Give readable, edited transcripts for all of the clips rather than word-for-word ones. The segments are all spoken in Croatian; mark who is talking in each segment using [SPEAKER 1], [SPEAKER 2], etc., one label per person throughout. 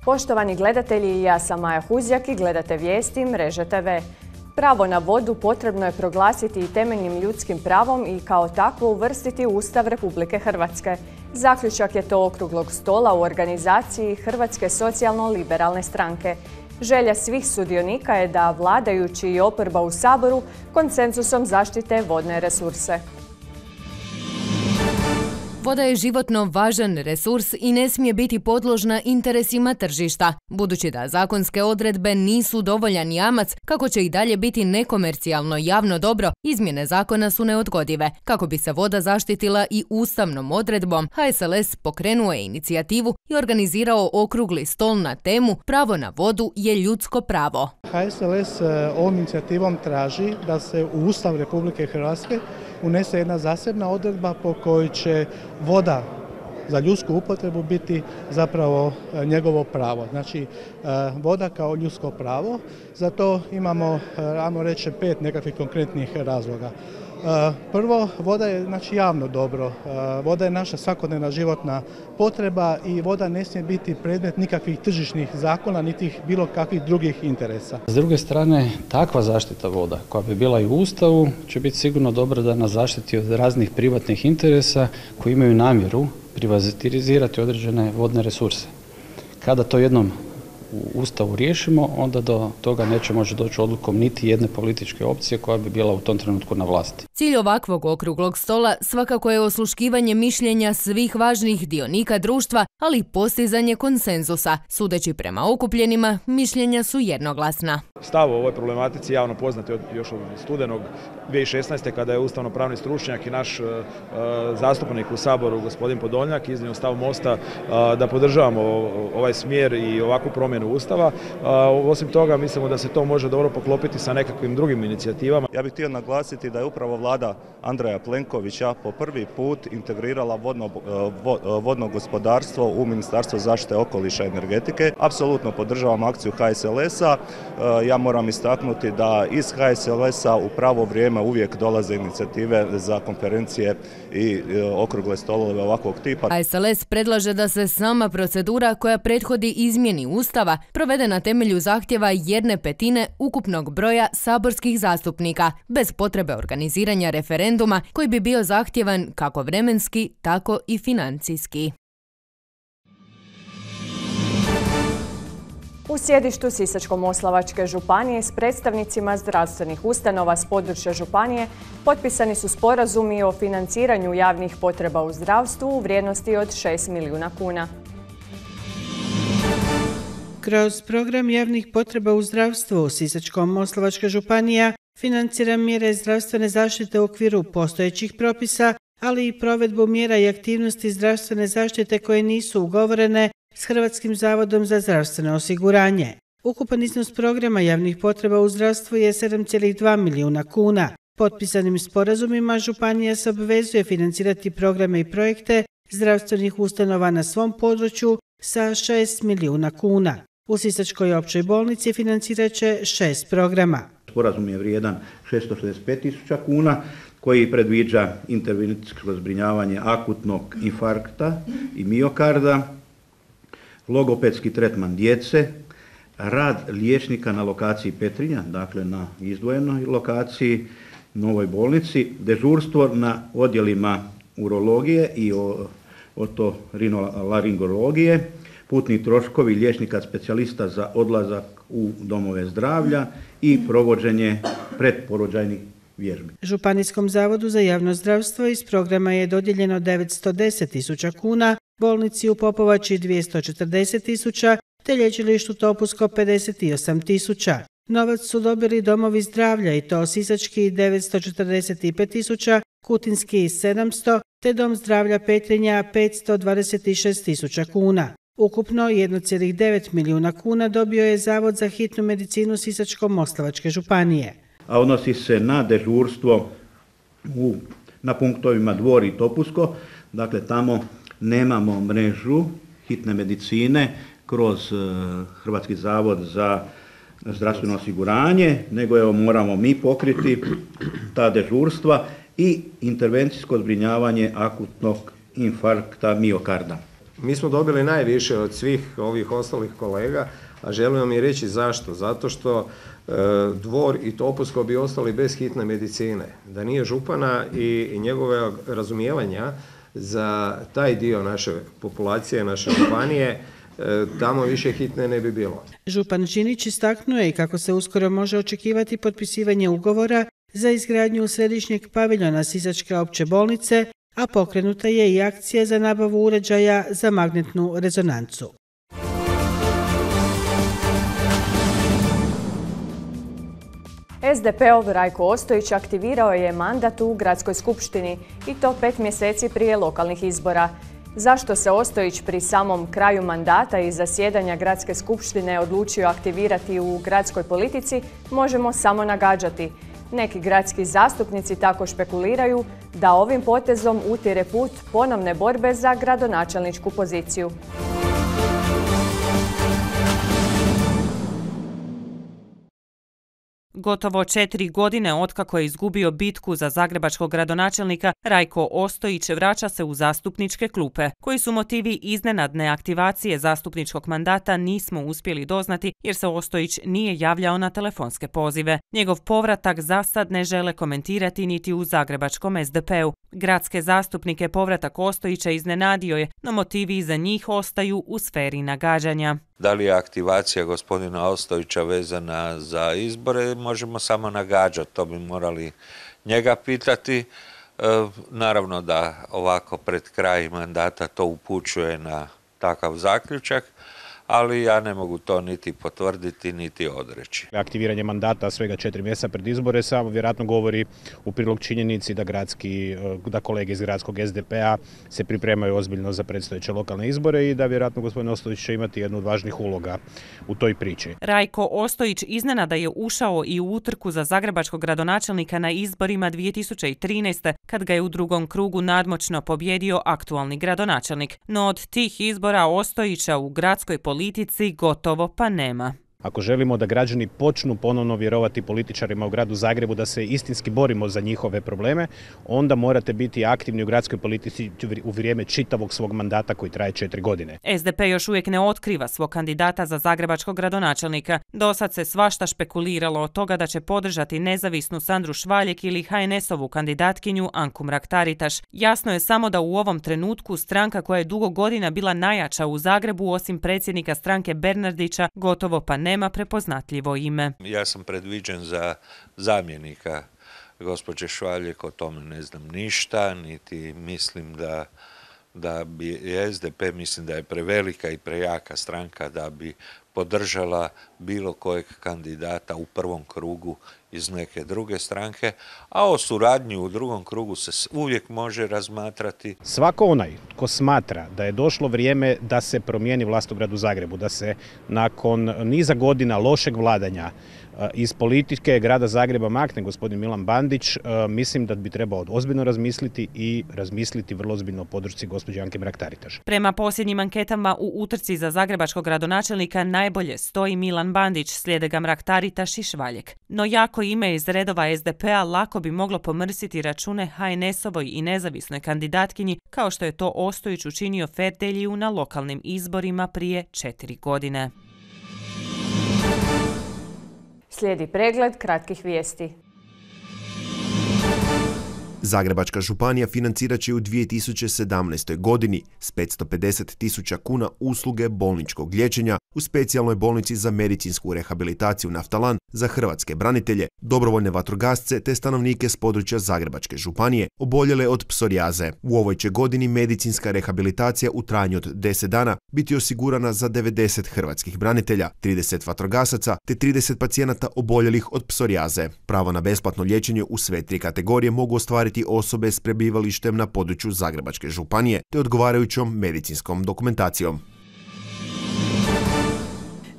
[SPEAKER 1] Poštovani gledatelji, ja sam Maja Huzjak i gledate vijesti Mreže TV. Pravo na vodu potrebno je proglasiti i temeljnim ljudskim pravom i kao takvo uvrstiti u Ustav Republike Hrvatske. Zaključak je to okruglog stola u organizaciji Hrvatske socijalno-liberalne stranke. Želja svih sudionika je da vladajući i oporba u Saboru konsenzusom zaštite vodne resurse.
[SPEAKER 2] Voda je životno važan resurs i ne smije biti podložna interesima tržišta. Budući da zakonske odredbe nisu dovoljan jamac kako će i dalje biti nekomercijalno javno dobro, izmjene zakona su neodgodive. Kako bi se voda zaštitila i ustavnom odredbom, HSLS pokrenuo je inicijativu i organizirao okrugli stol na temu Pravo na vodu je ljudsko pravo.
[SPEAKER 3] HSLS ovom inicijativom traži da se u Ustav Republike Hrvatske unese jedna zasebna odredba po kojoj će voda za ljudsku upotrebu biti zapravo njegovo pravo. Znači, voda kao ljudsko pravo, za to imamo, ajmo reći, 5 nekakvih konkretnih razloga. Prvo, voda je javno dobro, voda je naša svakodnevna životna potreba i voda ne smije biti predmet nikakvih tržišnih zakona niti bilo kakvih drugih interesa.
[SPEAKER 4] S druge strane, takva zaštita voda koja bi bila i u Ustavu će biti sigurno dobra da nas zaštiti od raznih privatnih interesa koji imaju namjeru privatizirati određene vodne resurse. Kada to jednom u Ustavu riješimo, onda do toga neće moći doći odlukom niti jedne političke opcije koja bi bila u tom trenutku na vlasti.
[SPEAKER 2] Cilj ovakvog okruglog stola svakako je osluškivanje mišljenja svih važnih dionika društva, ali i postizanje konsenzusa. Sudeći prema okupljenima, mišljenja su jednoglasna.
[SPEAKER 5] Stav o ovoj problematici javno poznat još od studenog 2016. kada je ustavno-pravni stručnjak i naš zastupnik u Saboru, gospodin Podolnjak, iznio stav Mosta da podržavamo ovaj smjer i ovakvu promjenu Ustava. Osim toga, mislimo da se to može dobro poklopiti sa nekakvim drugim inicijativama.
[SPEAKER 6] Ja bih htio naglasiti da je upravo vlada Andreja Plenkovića po prvi put integrirala vodno gospodarstvo u Ministarstvo zaštite okoliša i energetike. Apsolutno podržavam akciju HSLS-a. Ja moram istaknuti da iz HSLS-a u pravo vrijeme uvijek dolaze inicijative za konferencije i okrugle stolove ovakvog tipa.
[SPEAKER 2] HSLS predlaže da se sama procedura koja prethodi izmjeni Ustava provede na temelju zahtjeva 1/5 ukupnog broja saborskih zastupnika, bez potrebe organiziranja referenduma koji bi bio zahtjevan kako vremenski, tako i financijski.
[SPEAKER 1] U sjedištu Sisačko-moslavačke županije s predstavnicima zdravstvenih ustanova s područja županije potpisani su sporazumi o financiranju javnih potreba u zdravstvu u vrijednosti od 6 milijuna kuna.
[SPEAKER 7] Kroz program javnih potreba u zdravstvu Sisačko-moslavačka županija financira mjere zdravstvene zaštite u okviru postojećih propisa, ali i provedbu mjera i aktivnosti zdravstvene zaštite koje nisu ugovorene s Hrvatskim zavodom za zdravstveno osiguranje. Ukupan iznos programa javnih potreba u zdravstvu je 7,2 milijuna kuna. Potpisanim sporazumima županija se obvezuje financirati programe i projekte zdravstvenih ustanova na svom području sa 6 milijuna kuna. U Sisačkoj općoj bolnici financirat će 6 programa.
[SPEAKER 8] Sporazum je vrijedan 665.000 kuna koji predviđa intervencijsko zbrinjavanje akutnog infarkta i miokarda, logopedski tretman djece, rad liječnika na lokaciji Petrinja, dakle na izdvojenoj lokaciji, novoj bolnici, dežurstvo na odjelima urologije i otorinolaringologije, putni troškovi liječnika specijalista za odlazak u domove zdravlja i provođenje predporođajnih vježbi.
[SPEAKER 7] Županijskom zavodu za javno zdravstvo iz programa je dodijeljeno 910.000 kuna, bolnici u Popovači 240.000 te lječilištu Topusko 58.000. Novac su dobili domovi zdravlja i to sisački 945.000, kutinski 700 te dom zdravlja Petrinja 526.000 kuna. Ukupno 1,9 milijuna kuna dobio je Zavod za hitnu medicinu Sisačko-moslavačke županije.
[SPEAKER 8] A odnosi se na dežurstvo na punktovima Dvor i Topusko, dakle tamo nemamo mrežu hitne medicine kroz Hrvatski zavod za zdravstveno osiguranje, nego moramo mi pokriti ta dežurstva i intervencijsko zbrinjavanje akutnog infarkta miokarda.
[SPEAKER 9] Mi smo dobili najviše od svih ovih ostalih kolega, a želimo mi reći zašto. Zato što Dvor i Topusko bi ostali bez hitne medicine. Da nije župana i njegove razumijevanja za taj dio naše populacije, naše županije, tamo više hitne ne bi bilo.
[SPEAKER 7] Župan Žinić istaknuo je kako se uskoro može očekivati potpisivanje ugovora za izgradnju središnjeg paviljona Sisačke opće bolnice, a pokrenuta je i akcija za nabavu uređaja za magnetnu rezonancu.
[SPEAKER 1] SDP-ov Rajko Ostojić aktivirao je mandat u Gradskoj skupštini i to 5 mjeseci prije lokalnih izbora. Zašto se Ostojić pri samom kraju mandata i zasjedanja Gradske skupštine odlučio aktivirati u gradskoj politici, možemo samo nagađati. Neki gradski zastupnici tako špekuliraju da ovim potezom utire put ponovne borbe za gradonačelničku poziciju.
[SPEAKER 10] Gotovo 4 godine otkako je izgubio bitku za zagrebačkog gradonačelnika, Rajko Ostojić vraća se u zastupničke klupe. Koji su motivi iznenadne aktivacije zastupničkog mandata nismo uspjeli doznati jer se Ostojić nije javljao na telefonske pozive. Njegov povratak za sad ne žele komentirati niti u zagrebačkom SDP-u. Gradske zastupnike povratak Ostojića iznenadio je, no motivi za njih ostaju u sferi nagađanja.
[SPEAKER 11] Da li je aktivacija gospodina Ostojića vezana za izbore, možemo samo nagađati, to bi morali njega pitati. Naravno da ovako pred kraj mandata to upućuje na takav zaključak, ali ja ne mogu to niti potvrditi, niti odreći.
[SPEAKER 12] Aktiviranje mandata svega 4 mjeseca pred izbore samo vjerojatno govori u prilog činjenici da kolege iz gradskog SDP-a se pripremaju ozbiljno za predstojeće lokalne izbore i da vjerojatno gospodin Ostojić će imati jednu od važnih uloga u toj priči.
[SPEAKER 10] Rajko Ostojić iznenada je ušao i u utrku za zagrebačkog gradonačelnika na izborima 2013. kad ga je u drugom krugu nadmoćno pobjedio aktualni gradonačelnik. No od tih izbora Ostojića u gradskoj politici gotovo pa nema.
[SPEAKER 12] Ako želimo da građani počnu ponovno vjerovati političarima u gradu Zagrebu da se istinski borimo za njihove probleme, onda morate biti aktivni u gradskoj politici u vrijeme čitavog svog mandata koji traje 4 godine.
[SPEAKER 10] SDP još uvijek ne otkriva svog kandidata za zagrebačkog gradonačelnika. Dosad se svašta špekuliralo od toga da će podržati nezavisnu Sandru Švaljek ili HNS-ovu kandidatkinju Anku Mrak-Taritaš. Jasno je samo da u ovom trenutku stranka koja je dugo godina bila najjača u Zagrebu osim predsjednika stranke Bernardića gotovo pa nema prepoznatljivo ime.
[SPEAKER 11] Ja sam predviđen za zamjenika gospođe Švaljek, o tome ne znam ništa, niti mislim da bi SDP, mislim da je prevelika i prejaka stranka da bi podržala bilo kojeg kandidata u prvom krugu iz neke druge stranke, a o suradnji u drugom krugu se uvijek može razmatrati.
[SPEAKER 12] Svako onaj ko smatra da je došlo vrijeme da se promijeni vlast u gradu Zagrebu, da se nakon niza godina lošeg vladanja iz politike grada Zagreba makne gospodin Milan Bandić, mislim da bi trebao ozbiljno razmisliti vrlo ozbiljno o podršci gospođe Anke Mrak-Taritaš.
[SPEAKER 10] Prema posljednjim anketama u utrci za zagrebačkog gradonačelnika najbolje stoji Milan Bandić, slijede ga Mrak-Taritaš i Švaljek. No jako ime iz redova SDP-a lako bi moglo pomrsiti račune HNS-ovoj i nezavisnoj kandidatkinji, kao što je to Ostojić učinio Ferdeliju na lokalnim izborima prije 4 godine.
[SPEAKER 1] Slijedi pregled kratkih vijesti.
[SPEAKER 13] Zagrebačka županija financirat će u 2017. godini s 550.000 kuna usluge bolničkog liječenja u specijalnoj bolnici za medicinsku rehabilitaciju Naftalan za hrvatske branitelje, dobrovoljne vatrogasce te stanovnike s područja Zagrebačke županije oboljele od psorijaze. U ovoj će godini medicinska rehabilitacija u trajanju od 10 dana biti osigurana za 90 hrvatskih branitelja, 30 vatrogasaca te 30 pacijenata oboljelih od psorijaze. Pravo na besplatno liječenje u sve 3 kategorije mogu ostvariti osobe s prebivalištem na području Zagrebačke županije te odgovarajućom medicinskom dokumentacijom.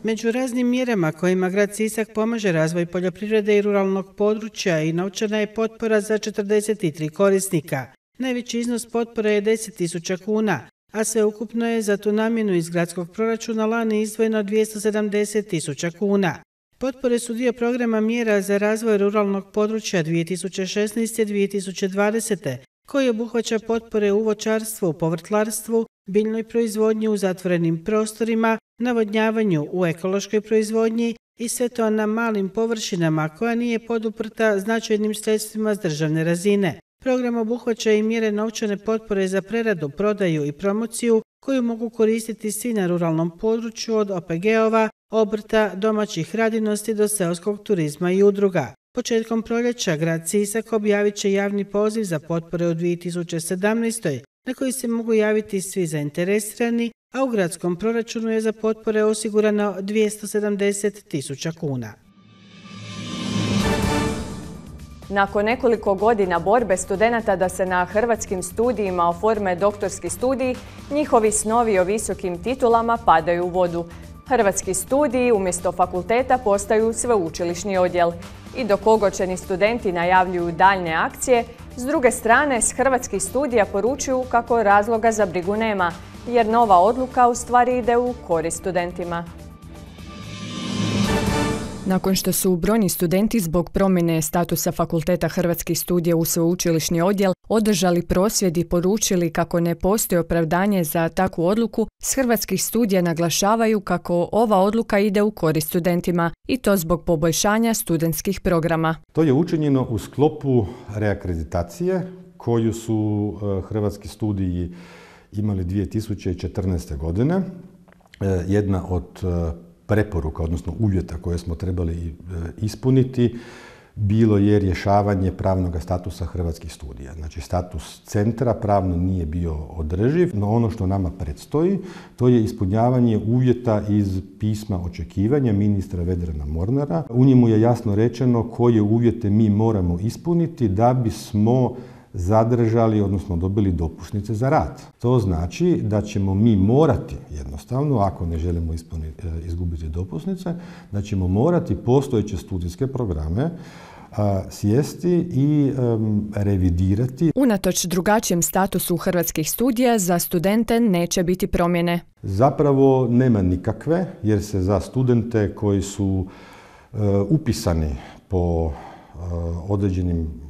[SPEAKER 7] Među raznim mjerama kojima grad Sisak pomaže razvoj poljoprivrede i ruralnog područja i novčana je potpora za 43 korisnika. Najveći iznos potpore je 10.000 kuna, a sveukupno je za tu namjenu iz gradskog proračuna lani izdvojeno 270.000 kuna. Potpore su dio programa mjera za razvoj ruralnog područja 2016-2020, koji obuhvaća potpore u voćarstvu, povrtlarstvu, biljnoj proizvodnji u zatvorenim prostorima, navodnjavanju u ekološkoj proizvodnji i sve to na malim površinama koja nije poduprta značajnim sredstvima s državne razine. Program obuhvaća i mjere novčane potpore za preradu, prodaju i promociju koju mogu koristiti svi na ruralnom području od OPG-ova, obrta, domaćih radinosti do seoskog turizma i udruga. Početkom proljeća grad Sisak objavit će javni poziv za potpore u 2017. na koji se mogu javiti svi zainteresirani, a u gradskom proračunu je za potpore osigurano 270.000 kuna.
[SPEAKER 1] Nakon nekoliko godina borbe studenata da se na hrvatskim studijima oforme doktorski studiji, njihovi snovi o visokim titulama padaju u vodu. Hrvatski studiji umjesto fakulteta postaju sveučilišni odjel. I dok ogorčeni studenti najavljuju daljnje akcije, s druge strane s hrvatskih studija poručuju kako razloga za brigu nema, jer nova odluka u stvari ide u korist studentima. Nakon što su brojni studenti zbog promjene statusa Fakulteta hrvatskih studija u sveučilišni odjel održali prosvjed i poručili kako ne postoji opravdanje za takvu odluku, s hrvatskih studija naglašavaju kako ova odluka ide u korist studentima i to zbog poboljšanja studentskih programa.
[SPEAKER 14] To je učinjeno u sklopu reakreditacije koju su hrvatski studiji imali 2014. godine. Jedna od preporuka, odnosno uvjeta koje smo trebali ispuniti, bilo je rješavanje pravnog statusa hrvatskih studija. Znači, status centra pravno nije bio održiv, no ono što nama predstoji, to je ispunjavanje uvjeta iz pisma očekivanja ministra Vedrana Mornara. U njemu je jasno rečeno koje uvjete mi moramo ispuniti da bismo zadržali, odnosno dobili dopusnice za rad. To znači da ćemo mi morati, jednostavno, ako ne želimo izgubiti dopusnice, da ćemo morati postojeće studijske programe sjesti i revidirati.
[SPEAKER 1] Unatoč drugačijem statusu hrvatskih studija, za studente neće biti promjene.
[SPEAKER 14] Zapravo nema nikakve, jer se za studente koji su upisani po određenim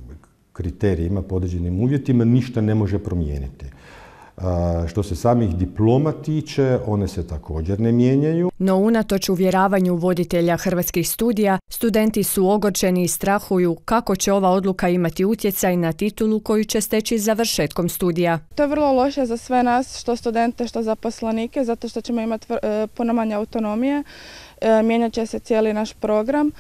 [SPEAKER 14] kriterijima, po određenim uvjetima, ništa ne može promijeniti. Što se samih diploma tiče, one se također ne mijenjaju.
[SPEAKER 1] No unatoč uvjeravanju voditelja hrvatskih studija, studenti su ogorčeni i strahuju kako će ova odluka imati utjecaj na titulu koju će steći završetkom studija.
[SPEAKER 15] To je vrlo loše za sve nas, što studente, što zaposlenike, zato što ćemo imati puno manje autonomije, mijenjat će se cijeli naš program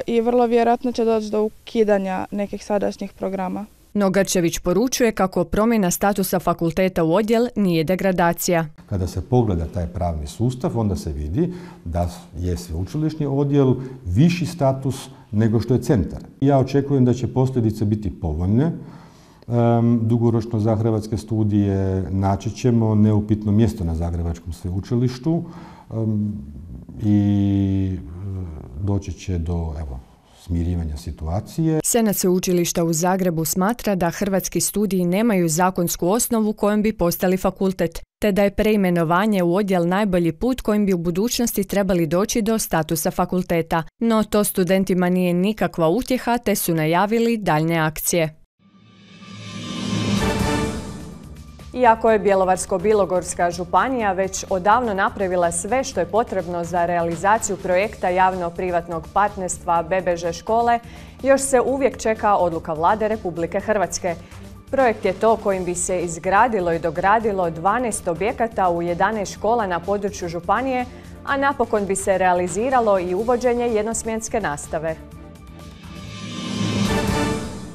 [SPEAKER 15] i vrlo vjerojatno će doći do ukidanja nekih sadašnjih programa.
[SPEAKER 1] No Grčević poručuje kako promjena statusa fakulteta u odjel nije degradacija.
[SPEAKER 14] Kada se pogleda taj pravni sustav, onda se vidi da je sveučilišni odjel viši status nego što je centar. Ja očekujem da će posljedice biti povoljne. Dugoročno za hrvatske studije naći ćemo neupitno mjesto na Zagrebačkom sveučilištu i doći će do smirivanja situacije.
[SPEAKER 1] Senat sveučilišta u Zagrebu smatra da hrvatski studiji nemaju zakonsku osnovu kojom bi postali fakultet, te da je preimenovanje u odjel najbolji put kojim bi u budućnosti trebali doći do statusa fakulteta. No to studentima nije nikakva utjeha, te su najavili daljne akcije. Iako je Bjelovarsko-bilogorska županija već odavno napravila sve što je potrebno za realizaciju projekta javno-privatnog partnerstva BBŽ škole, još se uvijek čeka odluka Vlade Republike Hrvatske. Projekt je to kojim bi se izgradilo i dogradilo 12 objekata u 11 škola na području županije, a napokon bi se realiziralo i uvođenje jednosmjenske nastave.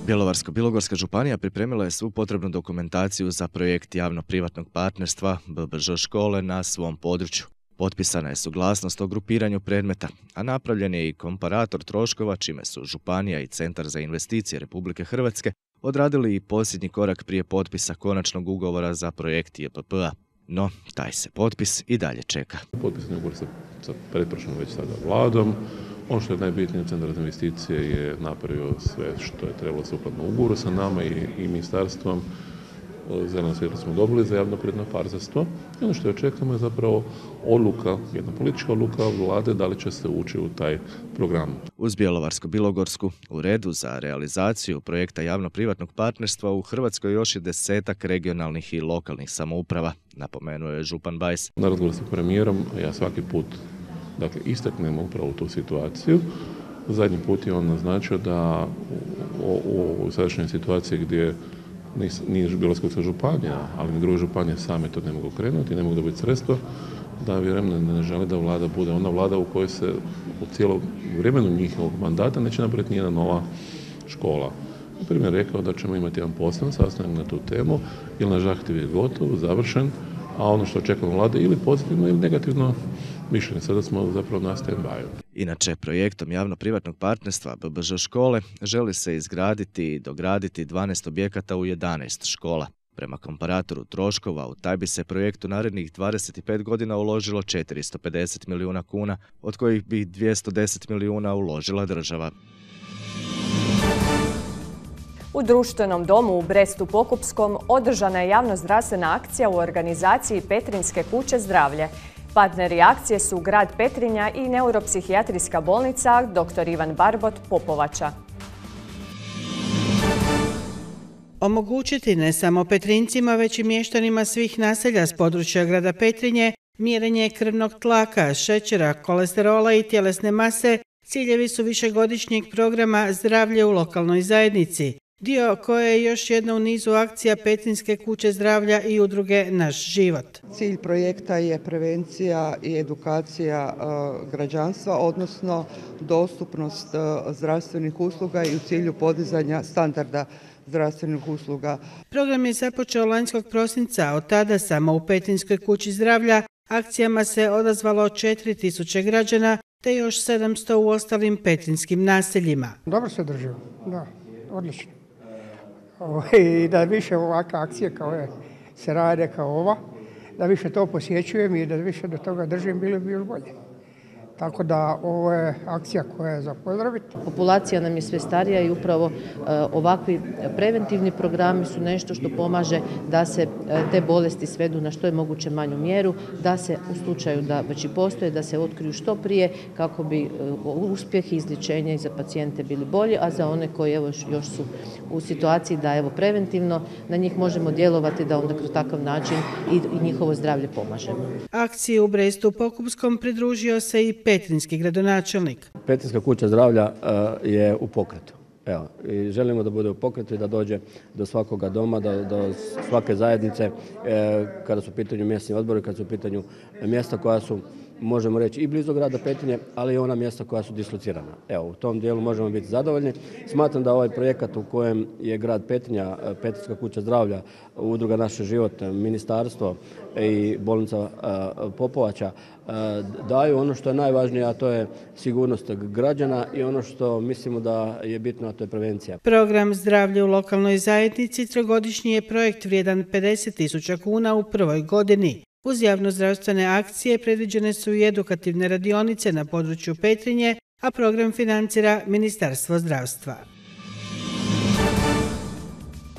[SPEAKER 16] Bjelovarsko-bilogorska županija pripremila je svu potrebnu dokumentaciju za projekt javno-privatnog partnerstva BBŽ škole na svom području. Potpisana je suglasnost o grupiranju predmeta, a napravljen je i komparator troškova, čime su županija i Centar za investicije Republike Hrvatske odradili i posljednji korak prije potpisa konačnog ugovora za projekt JPP-a. No, taj se potpis i dalje čeka.
[SPEAKER 17] Potpisni ugovor sa pretprošlom već sada vladom. Ono što je najbitnije, Centar za investicije je napravio sve što je trebalo sukladno ugovoru sa nama i ministarstvom. zeleno svjetlo smo dobili za javno-privatno partnerstvo. I ono što očekujemo je zapravo odluka, jedna politička odluka vlade da li će se ući u taj program.
[SPEAKER 16] Uz Bjelovarsko-bilogorsku u redu za realizaciju projekta javno-privatnog partnerstva u Hrvatskoj još je 10-ak regionalnih i lokalnih samouprava, napomenuo je župan Bajs.
[SPEAKER 17] Na razgovoru sa premijerom ja svaki put istaknem upravo tu situaciju. Zadnji put je on naznačio da u sadašnjoj situaciji gdje nije Bjelovarsko-bilogorska županija, ali ni druge županije same to ne mogu krenuti, ne mogu dobiti sredstva, da vjerujem ne želi da vlada bude ona vlada u kojoj se u cijelom vremenu njihovog mandata neće napraviti nijedna nova škola. Na primjer rekao da ćemo imati jedan poseban sastanak na tu temu, jer naš zahtjev je gotov, završen, a ono što očekujemo vlade ili pozitivno ili negativno mišljenje. Sada smo zapravo na stand-by.
[SPEAKER 16] Inače, projektom javno-privatnog partnerstva BBŽ škole želi se izgraditi i dograditi 12 objekata u 11 škola. Prema komparatoru troškova, u taj bi se projekt u narednih 25 godina uložilo 450 milijuna kuna, od kojih bi 210 milijuna uložila država.
[SPEAKER 1] U društvenom domu u Brestu Pokupskom održana je javno-zdravstvena akcija u organizaciji Petrinjske kuće zdravlje. Partneri akcije su grad Petrinja i neuropsihijatrijska bolnica dr. Ivan Barbot Popovača.
[SPEAKER 7] Omogućiti ne samo Petrinjcima, već i mještanima svih naselja s područja grada Petrinje mjerenje krvnog tlaka, šećera, kolesterola i tjelesne mase ciljevi su višegodišnjeg programa Zdravlje u lokalnoj zajednici, dio koje je još jedna u nizu akcija Petrinjske kuće zdravlja i udruge Naš život.
[SPEAKER 18] Cilj projekta je prevencija i edukacija građanstva, odnosno dostupnost zdravstvenih usluga i u cilju podizanja standarda zdravstvenih usluga.
[SPEAKER 7] Program je započeo lanjskog prosinca, od tada samo u Petrinjskoj kući zdravlja akcijama se odazvalo 4000 građana te još 700 u ostalim petrinjskim naseljima.
[SPEAKER 19] Dobro se držimo, da, odlično. I da više ovakve akcije kao se rade kao ova, da više to posjećujem i da više do toga držim, bilo bi još bolje. Tako da ovo je akcija koja je za pozdraviti.
[SPEAKER 20] Populacija nam je sve starija i upravo ovakvi preventivni programi su nešto što pomaže da se te bolesti svedu na što je moguće manju mjeru, da se u slučaju da već i postoje, da se otkriju što prije kako bi uspjeh i izlječenje za pacijente bili bolji, a za one koji još su u situaciji da preventivno na njih možemo djelovati, da onda kroz takav način i njihovo zdravlje pomažemo.
[SPEAKER 7] Akciji u Brestu Pokupskom pridružio se i petrinjski gradonačelnik.
[SPEAKER 21] Petrinjska kuća zdravlja je u pokretu. Evo, i želimo da bude u pokretu i da dođe do svakoga doma, do svake zajednice, kada su u pitanju mjesni odbori, kada su u pitanju mjesta koja su, možemo reći, i blizu grada Petrinje, ali i ona mjesta koja su dislocirana. Evo, u tom dijelu možemo biti zadovoljni. Smatram da ovaj projekat u kojem je grad Petrinja, Petrinjska kuća zdravlja, udruga Naš život, ministarstvo i bolnica Popovača daju ono što je najvažnije, a to je sigurnost građana i ono što mislimo da je bitno, a to je prevencija.
[SPEAKER 7] Program Zdravlje u lokalnoj zajednici trogodišnji je projekt vrijedan 50.000 kuna u prvoj godini. Uz javnozdravstvene akcije predviđene su i edukativne radionice na području Petrinje, a program financira Ministarstvo zdravstva.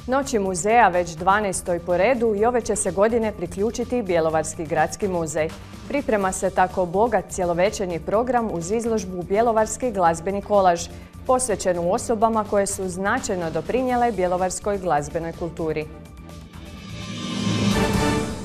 [SPEAKER 1] Noći muzeja već 12. po redu i ove će se godine priključiti Bjelovarski gradski muzej. Priprema se tako bogat cjelovečernji program uz izložbu Bjelovarski glazbeni kolaž, posvećenu osobama koje su značajno doprinijele bjelovarskoj glazbenoj kulturi.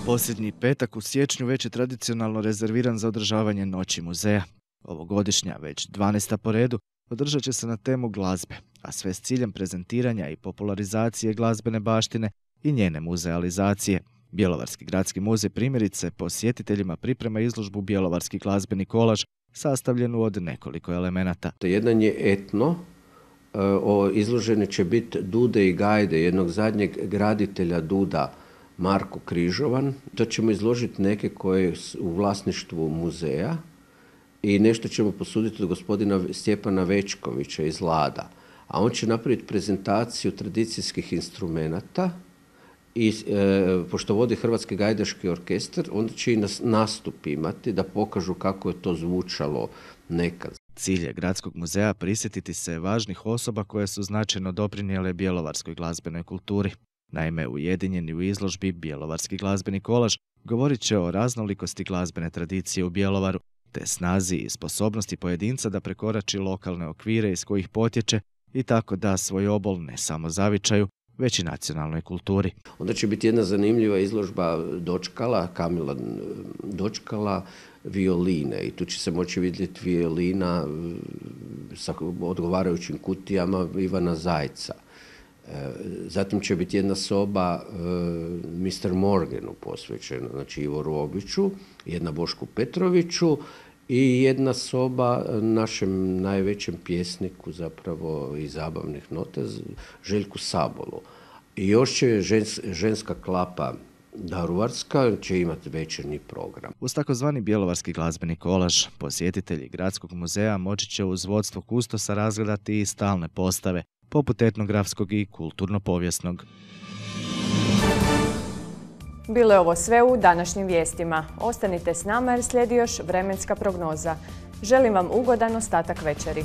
[SPEAKER 16] Posljednji petak u siječnju već je tradicionalno rezerviran za održavanje Noći muzeja. Ovogodišnja, već 12. po redu, održat će se na temu glazbe, a sve s ciljem prezentiranja i popularizacije glazbene baštine i njene muzealizacije. Bjelovarski gradski muzej primjerice posjetiteljima priprema izložbu Bjelovarski glazbeni kolaž, sastavljenu od nekoliko elemenata.
[SPEAKER 22] Jedan je etno, izložene će biti dude i gajde jednog zadnjeg graditelja duda, Marko Križovan. To ćemo izložiti neke koje su u vlasništvu muzeja i nešto ćemo posuditi od gospodina Stjepana Večkovića iz Lada. A on će napraviti prezentaciju tradicijskih instrumenata i pošto vodi Hrvatski gajdaški orkestar, onda će i nastup imati da pokažu kako je to zvučalo nekad.
[SPEAKER 16] Cilj je Gradskog muzeja prisjetiti se važnih osoba koje su značajno doprinijele bjelovarskoj glazbenoj kulturi. Naime, ujedinjeni u izložbi Bjelovarski glazbeni kolaž govorit će o raznolikosti glazbene tradicije u Bjelovaru, te snazi i sposobnosti pojedinca da prekorači lokalne okvire iz kojih potječe i tako da svoj obol ne samo zavičaju, već i nacionalnoj kulturi.
[SPEAKER 22] Onda će biti jedna zanimljiva izložba dočkala, Kamila dočkala violine i tu će se moći vidjeti violina sa odgovarajućim kutijama Ivana Zajca. Zatim će biti jedna soba Mr. Morganu posvećena, znači Ivoru Obiću, jedna Bošku Petroviću i jedna soba našem najvećem pjesniku zapravo i zabavnih nota, Željku Sabolu. I još će ženska klapa Daruvarska će imati večernji program.
[SPEAKER 16] Uz takozvani Bjelovarski glazbeni kolaž, posjetitelji Gradskog muzeja moći će uz vodstvo kustosa razgledati i stalne postave, poput etnografskog i kulturno-povijesnog.
[SPEAKER 1] Bilo je ovo sve u današnjim vijestima. Ostanite s nama jer slijedi još vremenska prognoza. Želim vam ugodan ostatak večeri.